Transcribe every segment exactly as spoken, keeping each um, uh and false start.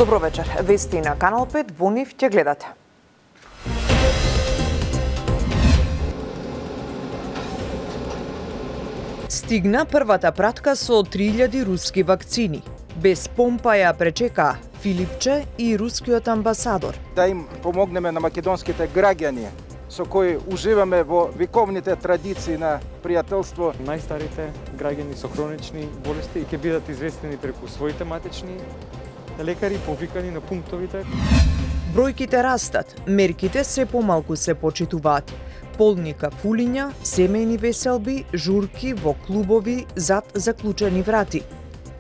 Добро вечер. Вести на Канал пет, во нив ќе гледате. Стигна првата пратка со три илјади руски вакцини. Без помпа ја пречека Филипче и рускиот амбасадор. Да им помогнеме на македонските граѓани со кои уживаме во вековните традиции на пријателство. Најстарите граѓани со хронични болести ќе бидат известени преку своите матични лекари, повикани на пунктовите. Бројките растат, мерките се помалку се почитуваат. Полни кафулиња, семејни веселби, журки во клубови зад заклучени врати.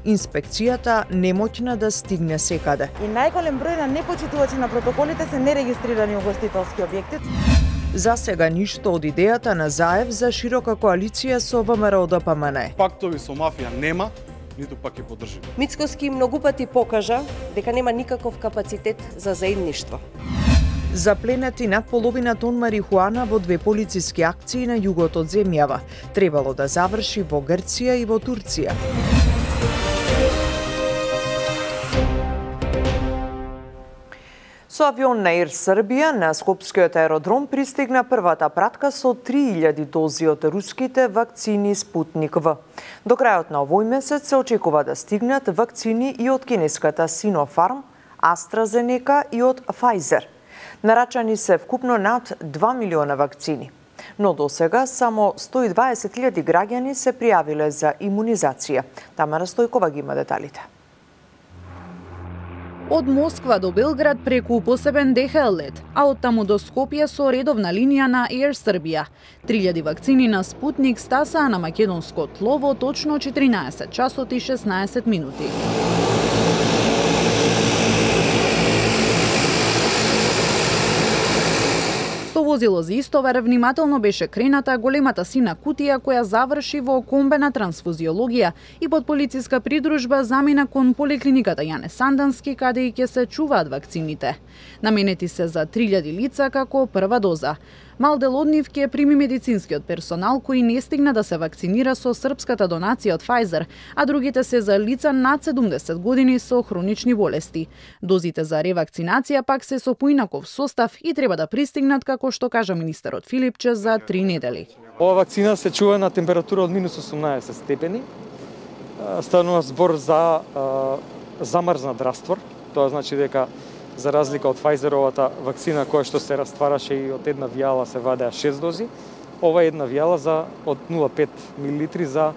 Инспекцијата немоќна да стигне секаде. И најголем број на непочитувачи на протоколите се нерегистрирани угостителски објекти. За сега ништо од идејата на Заев за широка коалиција со ВМРО Д П М Н. Пактови со мафија нема, ниту пак ќе поддржи. Мицкоски многу пати покажа дека нема никаков капацитет за заедништво. Запленети над половина тон марихуана во две полициски акции на југот од земјава. Требало да заврши во Грција и во Турција. Со авион на Ер Србија на Скопскиот аеродром пристигна првата пратка со три илјади дози од руските вакцини Спутник В. До крајот на овој месец се очекува да стигнат вакцини и од кинеската Синофарм, AstraZeneca и од Pfizer. Нарачани се вкупно над два милиона вакцини. Но досега само сто и дваесет илјади граѓани се пријавиле за имунизација. Тамара Стојкова ги има деталите. Од Москва до Белград преку посебен Д Х Л лет, а од таму до Скопје со редовна линија на Ер Србија. три илјади вакцини на Спутник стасаа на македонско тло во точно четиринаесет часот и шеснаесет минути. Со возило за истовар внимателно беше крената големата сина кутија која заврши во комбена трансфузиологија и под полициска придружба замина кон поликлиниката Јане Сандански, каде и ќе се чуваат вакцините. Наменети се за три илјади лица како прва доза. Мал дел од нив ќе прими медицинскиот персонал кој не стигна да се вакцинира со српската донација од Pfizer, а другите се за лица над седумдесет години со хронични болести. Дозите за ревакцинација пак се со поинаков состав и треба да пристигнат, како што кажа министерот Филипче, за три недели. Ова вакцина се чува на температура од минус осумнаесет степени. Станува збор за а, замрзнат раствор. Тоа значи дека за разлика од Pfizeровата вакцина која што се раствараше и од една вијала се вадеа шест дози, ова е една вијала за од нула целу пет милилитри за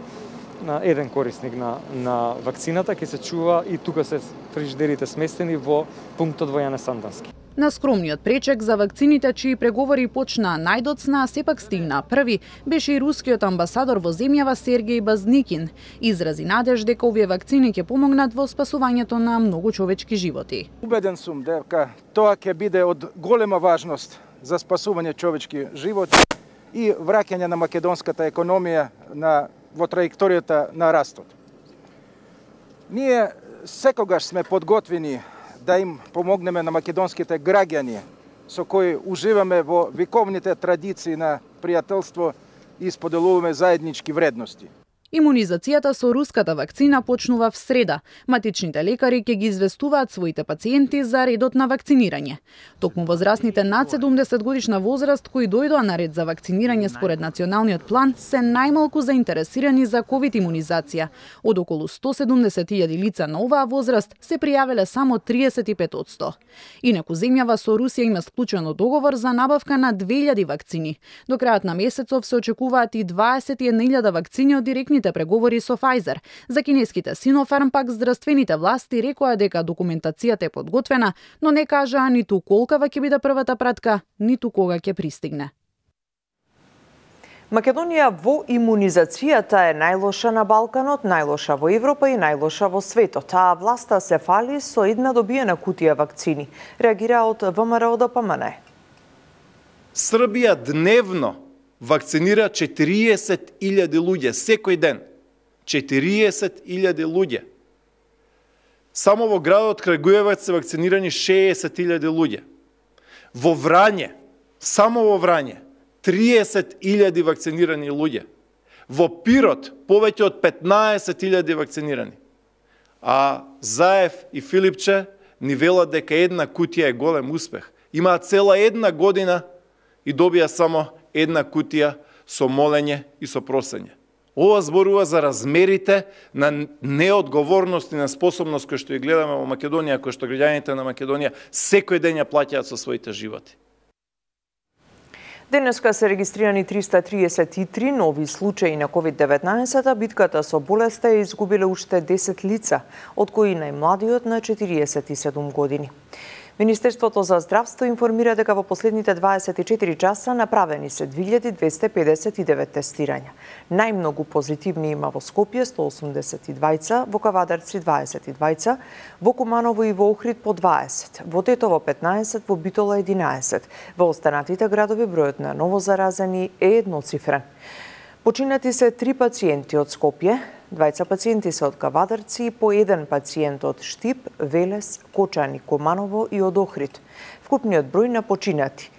на еден корисник на на вакцината ќе се чува и тука се фриждерите сместени во пунктот во Јане Сандански. На скромниот пречек за вакцините чии преговори почна најдоцна, сепак стигна први, беше и рускиот амбасадор во земјава Сергеј Базникин. Изрази надеж дека овие вакцини ќе помогнат во спасувањето на многу човечки животи. Убеден сум дека тоа ќе биде од голема важност за спасување човечки животи и враќање на македонската економија на во траекторијата на растот. Ние секогаш сме подготвени да им помогнеме на македонските граѓани со кои уживаме во вековните традиции на пријателство и споделуваме заеднички вредности. Имунизацијата со руската вакцина почнува в среда. Матичните лекари ќе ги известуваат своите пациенти за редот на вакцинирање. Токму возрастните над седумдесет годишна возраст кои дојдоа на ред за вакцинирање според националниот план се најмалку заинтересирани за ковид имунизација. Од околу сто седумдесет илјади лица на оваа возраст се пријавиле само триесет и пет одсто. Инаку земјава со Русија има склучено договор за набавка на две илјади вакцини. До крајот на месецов се очекуваат и дваесет и една илјада вакцини од директни преговори со Pfizer. За кинеските Синофарм пак здравствените власти рекоа дека документацијата е подготвена, но не кажаа ниту колкава ќе биде првата пратка, ниту кога ќе пристигне. Македонија во имунизацијата е најлоша на Балканот, најлоша во Европа и најлоша во светот, а власта се фали со една добиена кутија вакцини. Реагира од В М Р Д П М Н. Србија дневно вакцинира четириесет илјади луѓе секој ден. четириесет илјади луѓе. Само во градот Крагуеваc се вакцинирани шеесет илјади луѓе. Во Врање, само во Врање, триесет илјади вакцинирани луѓе. Во Пирот повеќе од петнаесет илјади вакцинирани. А Заев и Филипче ни велат дека една кутија е голем успех. Имаат цела една година и добија само една кутија со молење и со просење. Ова зборува за размерите на неодговорност и на способност кој што ја гледаме во Македонија, кој што граѓаните на Македонија секој ден ја плаќаат со своите животи. Денеска се регистрирани триста триесет и три нови случаи на ковид деветнаесет, а битката со болеста е изгубиле уште десет лица, од кои најмладиот на четириесет и седум години. Министерството за здравство информира дека во последните дваесет и четири часа направени се две илјади двесте педесет и девет тестирања. Најмногу позитивни има во Скопје сто осумдесет и двајца, во Кавадарци дваесет и двајца, во Куманово и во Охрид по дваесет, во Тетово петнаесет, во Битола единаесет. Во останатите градови бројот на новозаразени е едноцифрен. Починати се три пациенти од Скопје, двајца пациенти се од Кавадарци и по еден пациент од Штип, Велес, Кочани, Куманово и од Охрид. Вкупниот број на починати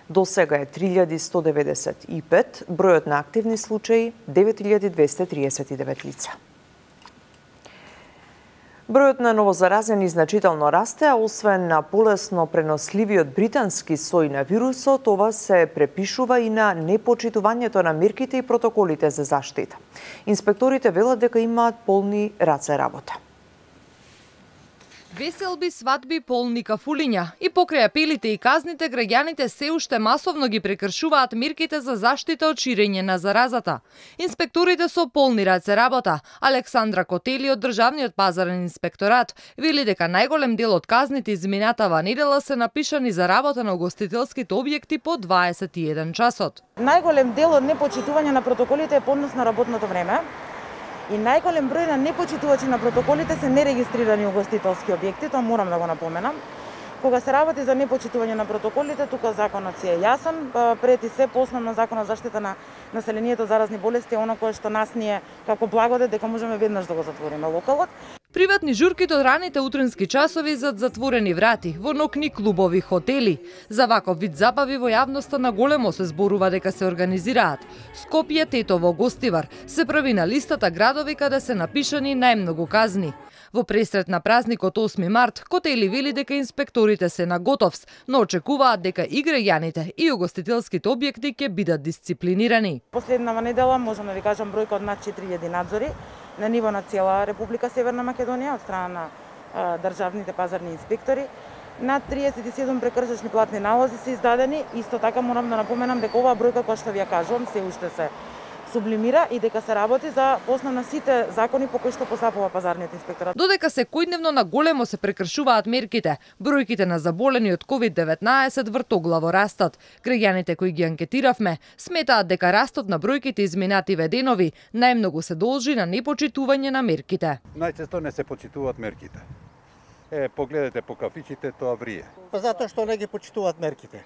до сега е три илјади сто деветдесет и пет, бројот на активни случаи девет илјади двесте триесет и девет лица. Бројот на новозаразени значително расте, а освен на полесно преносливиот британски сој на вирусот, ова се препишува и на непочитувањето на мерките и протоколите за заштита. Инспекторите велат дека имаат полни раце работа. Веселби, свадби, полни кафулиња и покрај апелите и казните, граѓаните се уште масовно ги прекршуваат мерките за заштита од ширење на заразата. Инспекторите со полни раце работа. Александра Котели од Државниот пазарен инспекторат вели дека најголем дел од казните изминатава недела се напишани за работа на угостителските објекти по дваесет и еден часот. Најголем дел од непочитување на протоколите е поднос на работното време. И најголем број на непочитувачи на протоколите се нерегистрирани угостителски објекти, тоа морам да го напоменам. Кога се работи за непочитување на протоколите, тука законот си е јасен, пред и се по основно законот за заштита на населението од заразни болести е оно кое што нас ни е како благодет дека можеме веднаш да го затвориме локалот. Приватни журки до раните утренски часови зад затворени врати, во нокни клубови, хотели. За ваков вид забави во јавноста на големо се зборува дека се организираат. Скопје, Тетово, Гостивар се прави на листата градови каде се напишани најмногу казни. Во пресрет на празникот осми март, Котели вели дека инспекторите се на готовс, но очекуваат дека и граѓаните и угостителските објекти ќе бидат дисциплинирани. Последнава недела можам да ви кажам бројка од над четири илјади надзори на ниво на цела Република Северна Македонија од страна на а, државните пазарни инспектори. Над триесет и седум прекршачни платни налози се издадени. Исто така морам да напоменам дека оваа бројка која што ви ја кажувам се уште се сублимира и дека се работи за основна сите закони по кои што постапува пазарниот инспекторат. Додека секојдневно на големо се прекршуваат мерките, бројките на заболени од ковид деветнаесет вртоглаво растат. Граѓаните кои ги анкетиравме сметаат дека растот на бројките изминативе денови најмногу се должи на непочитување на мерките. Најчесто не се почитуваат мерките. Е, погледате по кафичите, тоа врие. Па затоа што не ги почитуваат мерките.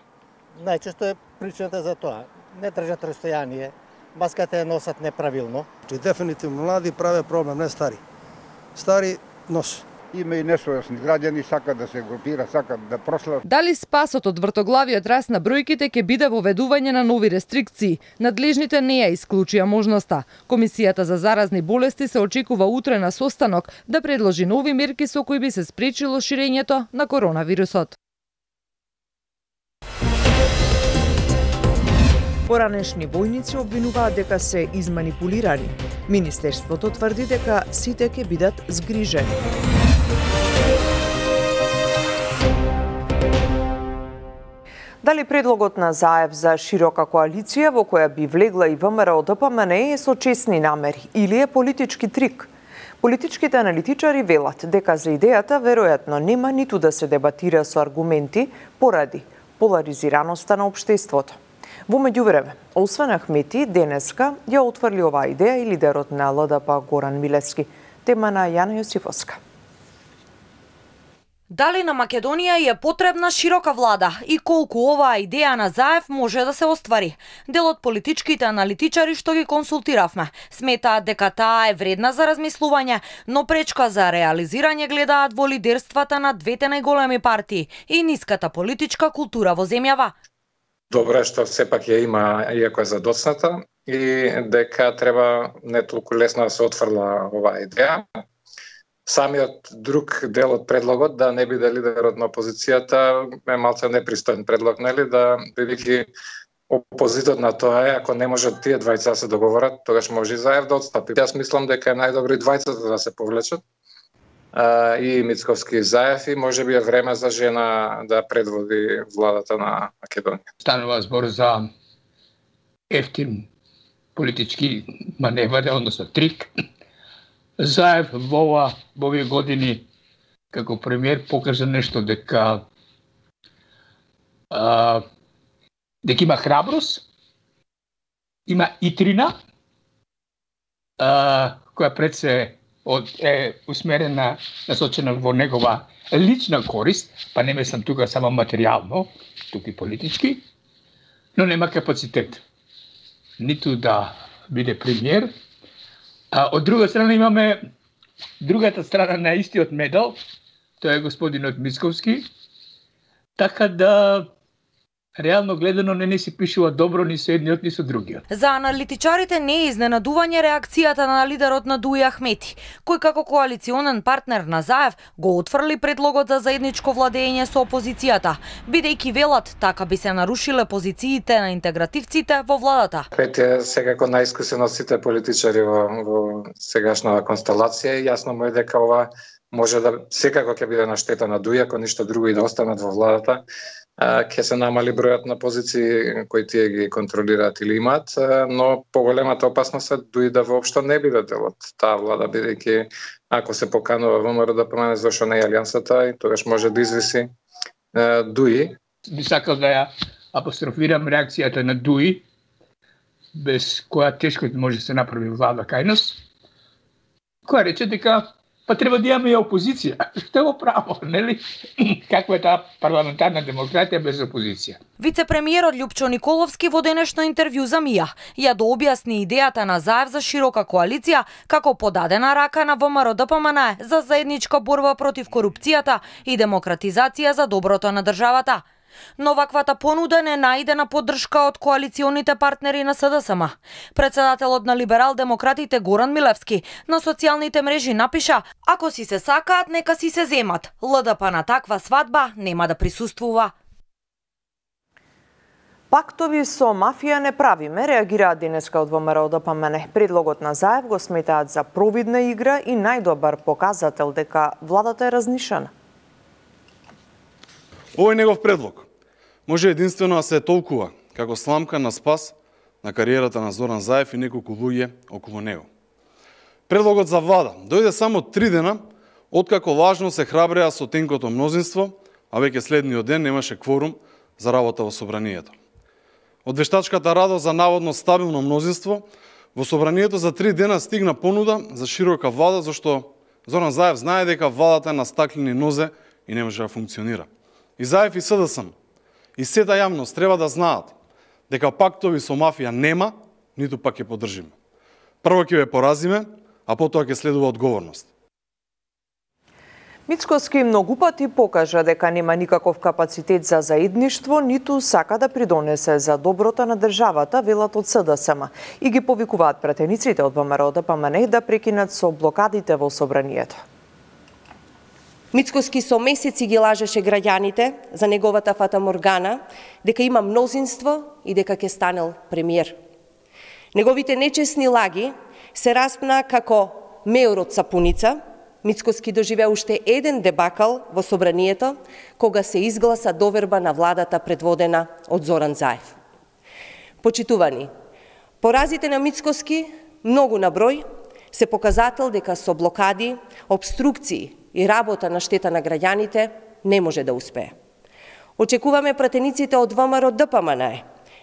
Најчесто е причината за тоа. Не држат растојание. Маската ја носат неправилно. Дефинитивно млади праве проблем, не стари. Стари нос. Има и несојасни граѓани, сакат да се групира, сакат да прослават. Дали спасот од вртоглавиот раст на бројките ќе биде воведување на нови рестрикции? Надлежните не ја исклучија можноста. Комисијата за заразни болести се очекува утре на состанок да предложи нови мерки со кои би се спречило ширењето на коронавирусот. Поранешни војници обвинуваат дека се изманипулирани. Министерството тврди дека сите ќе бидат згрижени. Дали предлогот на Заев за широка коалиција во која би влегла и ВМРО Д П М Н е со честни намери или е политички трик? Политичките аналитичари велат дека за идејата веројатно нема ниту да се дебатира со аргументи поради поларизираноста на општеството. Во меѓувреме, освен Ахмети, денеска ја отврли оваа идеја и лидерот на Л Д П Горан Милевски. Тема на Јана Јосифовска. Дали на Македонија е потребна широка влада и колку оваа идеја на Заев може да се оствари? Дел од политичките аналитичари што ги консултиравме сметаат дека таа е вредна за размислување, но пречка за реализирање гледаат во лидерствата на двете најголеми партии и ниската политичка култура во земјава. Добро е што сепак ја има, иако е задоцната, и дека треба не толку лесно да се отфрла оваа идеја. самиот друг дел од предлогот да не биде лидерот на опозицијата е малце непристоен предлог, нели, да бидејќи опозитот на тоа е, ако не можат тие двајца да се договорат, тогаш може и Заев да отстапи. Јас мислам дека е најдобро и двајцата да се повлечат, а, и Мицковски и Заев, и може би е време за жена да предводи владата на Македонија. Станува збор за ефтин политички маневар, односно трик. Заев во ова во овие години како премиер покажа нешто дека а, дека има храброст, има итрина, а, која пред се од, е усмерена, насочена во негова лична корист, па не мислам тука само материјално, тука и политички, но нема капацитет ниту да биде премиер. А од друга страна имаме другата страна на истиот медал, тоа е господинот Мицковски, така да реално гледано не не се пишува добро ни со едниот ни со другиот. За аналитичарите не е изненадување реакцијата на лидерот на Дуи Ахмети, кој како коалиционен партнер на Заев го отфрли предлогот за заедничко владење со опозицијата, бидејќи велат така би се нарушиле позициите на интегративците во владата. Пети е секако најискусен од сите политичари во, во сегашната констелација и јасно му е дека ова може да секако ќе биде на штета на Дуи, ако ништо друго и да останат во владата. Ќе се намали бројот на позиции кои тие ги контролираат или имаат, но поголемата опасност е Дуи да воопшто не биде дел од таа влада, бидејќи ако се поканува ВМРО да промени зашто не е алијансата, и тогаш може да извиси Дуи. Би сакал да ја апострофирам реакцијата на Дуи, без која тешко може да се направи влада кај нас, која рече дека па треба да имаме и опозиција. Што е во право, нели? Каква е таа парламентарна демократија без опозиција? Вице-премиерот Љупчо Николовски во денешно интервју за МИА ја дообјасни идејата на Заев за широка коалиција како подадена рака на ВМРО Д П М Н за заедничка борба против корупцијата и демократизација за доброто на државата. Но ваквата понуда не најдена поддршка од коалиционите партнери на С Д С М. Председателот на либерал-демократите Горан Милевски на социјалните мрежи напиша: ако си се сакаат, нека си се земат. Л Д П на таква свадба нема да присуствува. Пактови со мафија не правиме, реагираат денеска од ВМРО Д П М Н. Предлогот на Заев го сметаат за провидна игра и најдобар показател дека владата е разнишена. Овој негов предлог може единствено да се толкува како сламка на спас на кариерата на Зоран Заев и неколку луѓе околу него. Предлогот за влада дојде само три дена откако лажно се храбреа со тенкото мнозинство, а веќе следниот ден немаше кворум за работа во собранието. Од вештачката радост за наводно стабилно мнозинство, во собранието за три дена стигна понуда за широка влада, зашто Зоран Заев знае дека владата е на стаклени нозе и не може да функционира. И Заев и С Д С М, и сета јавност треба да знаат дека пактови со мафија нема, ниту пак ќе поддржиме. Прво ќе ве поразиме, а потоа ќе следува одговорност. Мицковски многу пати покажа дека нема никаков капацитет за заедништво, ниту сака да придонесе за доброто на државата, велат од С Д С М, и ги повикуваат пратениците од ВМРО Д П М Н да прекинат со блокадите во собранието. Мицковски со месеци ги лажеше граѓаните за неговата фатаморгана, дека има мнозинство и дека ќе станел премиер. Неговите нечесни лаги се распна како меор од сапуница. Мицковски доживеа уште еден дебакал во собранието, кога се изгласа доверба на владата предводена од Зоран Заев. Почитувани, поразите на Мицковски, многу на број, се показател дека со блокади, обструкции и работа на штета на граѓаните не може да успее. Очекуваме пратениците од ВМРО Д П М Н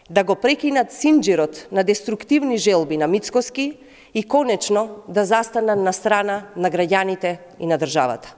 да го прекинат синџирот на деструктивни желби на Мицковски и конечно да застанат на страна на граѓаните и на државата.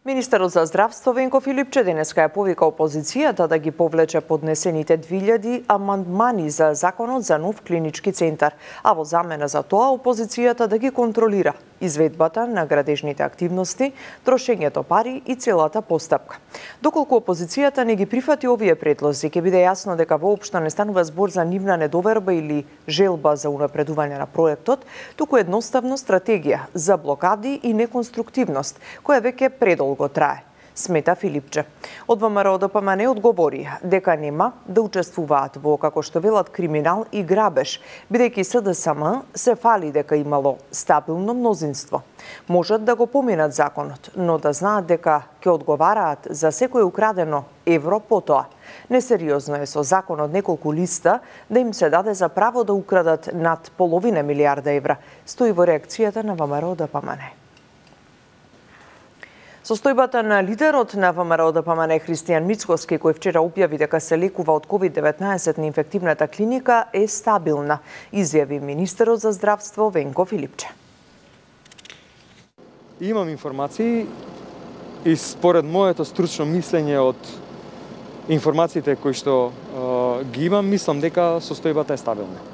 Министерот за здравство Венко Филипче денеска ја повика опозицијата да ги повлече поднесените две илјади амандмани за законот за нов клинички центар, а во замена за тоа опозицијата да ги контролира изведбата на градежните активности, трошењето пари и целата постапка. Доколку опозицијата не ги прифати овие предлози, ќе биде јасно дека воопшто не станува збор за нивна недоверба или желба за унапредување на проектот, туку едноставно стратегија за блокади и неконструктивност, која веќе предолго трае, смета Филипче. Од ВМРО Д П М Н одговори дека нема да учествуваат во, како што велат, криминал и грабеж, бидејќи С Д С М се фали дека имало стабилно мнозинство. Можат да го поминат законот, но да знаат дека ќе одговараат за секој украдено евро потоа. Несериозно е со закон од неколку листа да им се даде за право да украдат над половина милиарда евра, стои во реакцијата на ВМРО Д П М Н. Состојбата на лидерот на ВМРО Д П М Н Христијан Мицкоски, кој вчера објави дека се лекува од ковид деветнаесет на инфективната клиника, е стабилна, изјави министерот за здравство Венко Филипче. Имам информации и според моето стручно мислење од информациите кои што е, ги имам, мислам дека состојбата е стабилна.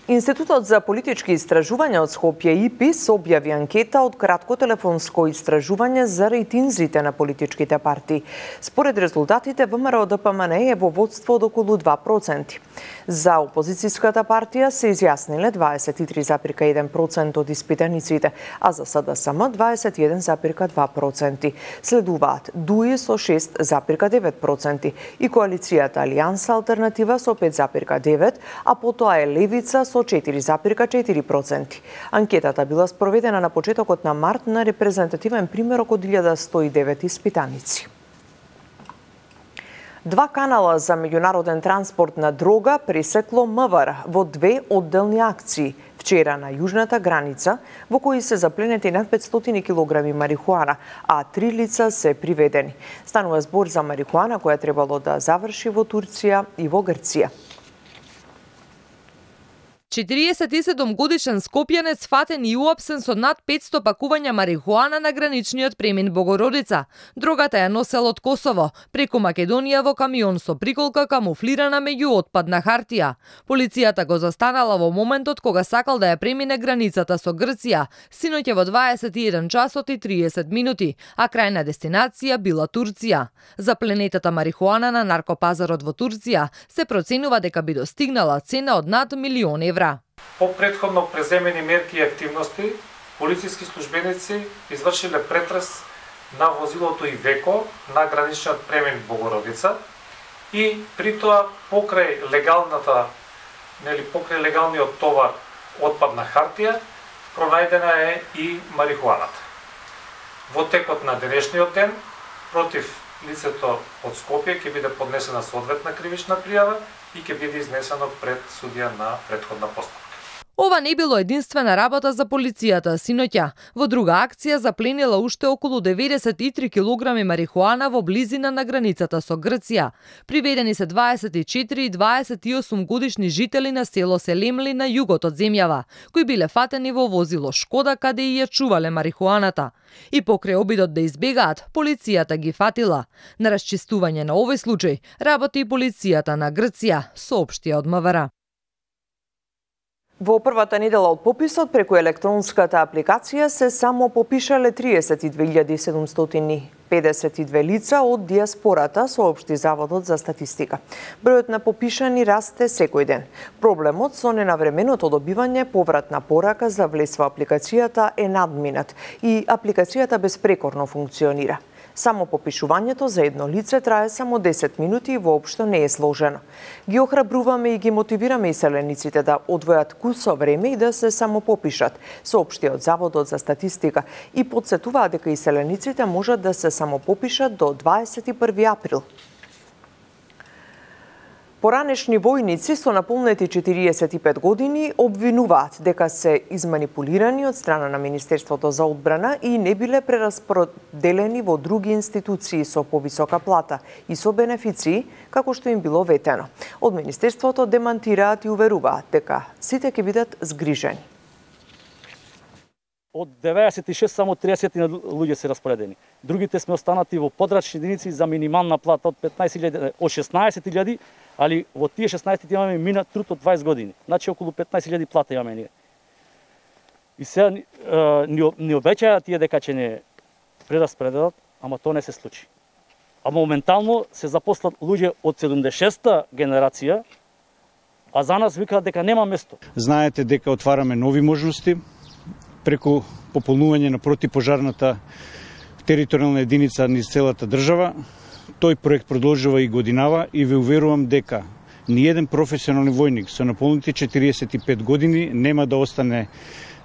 Институтот за политички истражувања од Скопје И П И С објави анкета од кратко телефонско истражување за рейтинзите на политичките партии. Според резултатите, ВМРО Д П М Н е во водство од околу два проценти. За опозицијската партија се изјасниле дваесет и три зарез и еден процент од испитаниците, а за С Д С М дваесет и еден зарез и два проценти. Следуваат Д У И со шест зарез и девет проценти и коалицијата Алијанса Алтернатива со пет зарез и девет, а потоа е Левица со четири зарез и четири проценти. Анкетата била спроведена на почетокот на март на репрезентативен примерок од илјада сто и девет испитаници. Два канала за меѓународен транспорт на дрога пресекло М В Р во две одделни акции вчера на јужната граница, во кои се запленети над петстотини килограми марихуана, а три лица се приведени. Станува збор за марихуана која требало да заврши во Турција и во Грција. четириесет и седум годишен скопјанец фатен и уапсен со над петсто пакувања марихуана на граничниот премин Богородица. Дрогата ја носел од Косово, преку Македонија во камион со приколка камуфлирана меѓу отпадна хартија. Полицијата го застанала во моментот кога сакал да ја премине границата со Грција, синоќа во дваесет и еден часот и триесет минути, а крајна дестинација била Турција. Запленетата марихуана на наркопазарот во Турција се проценува дека би достигнала цена од над милион евра. По претходно преземени мерки и активности, полициски службеници извршиле претрес на возилото Ивеко на граничниот премин Богородица и при тоа покрај легалната, нели покрај легалниот товар отпадна хартија пронајдена е и марихуаната. Во текот на денешниот ден против лицето од Скопје ќе биде поднесена соодветна кривична пријава и ќе биде изнесено пред судија на претходна постапка. Ова не било единствена работа за полицијата синоќа. Во друга акција запленила уште околу деветдесет и три килограми марихуана во близина на границата со Грција. Приведени се дваесет и четири и дваесет и осум годишни жители на село Селемли на југот од земјава, кои биле фатени во возило Шкода каде и ја чувале марихуаната. И покрај обидот да избегаат, полицијата ги фатила. На расчистување на овој случај работи и полицијата на Грција, соопштија од М В Р. Во првата недела од пописот преку електронската апликација се само попишале триесет и две илјади седумстотини педесет и две лица од диаспората, соопшти Заводот за статистика. Бројот на попишани расте секој ден. Проблемот со ненавременото добивање повратна порака за влез во апликацијата е надминат и апликацијата безпрекорно функционира. Само попишувањето за едно лице трае само десет минути и воопшто не е сложено. Ги охрабруваме и ги мотивираме иселениците да одвојат кусо време и да се само попишат, соопшти од Заводот за статистика и потсетуваат дека иселениците можат да се само попишат до дваесет и први април. Поранешни војници со наполнети четириесет и пет години обвинуваат дека се изманипулирани од страна на Министерството за одбрана и не биле прераспределени во други институции со повисока плата и со бенефиции, како што им било ветено. Од Министерството демантираат и уверуваат дека сите ќе бидат згрижени. Од деветдесет и шест само триесет луѓе се распоредени. Другите сме останати во подрачни единици за минимална плата од петнаесет илјади, од шеснаесет илјади, али во тие шеснаесет имаме минат труд од дваесет години. Значи околу петнаесет илјади плата имаме ние. И сега ни, ни обеќаја тие дека ќе не прераспределат, ама тоа не се случи. А моментално се запослат луѓе од седумдесет и шеста генерација, а за нас викаат дека нема место. Знаете дека отвараме нови можности преку пополнување на противпожарната територијална единица низ целата држава. Тој проект продолжува и годинава и ве уверувам дека ниеден професионални војник со наполните четириесет и пет години нема да остане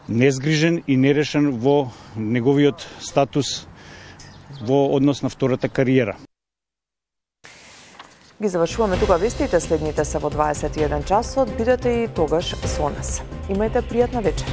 незгрижен и нерешен во неговиот статус во однос на втората кариера. Ги завршуваме тука вестите, следните се во дваесет и еден часот, бидете и тогаш со нас. Имајте пријатна вечер.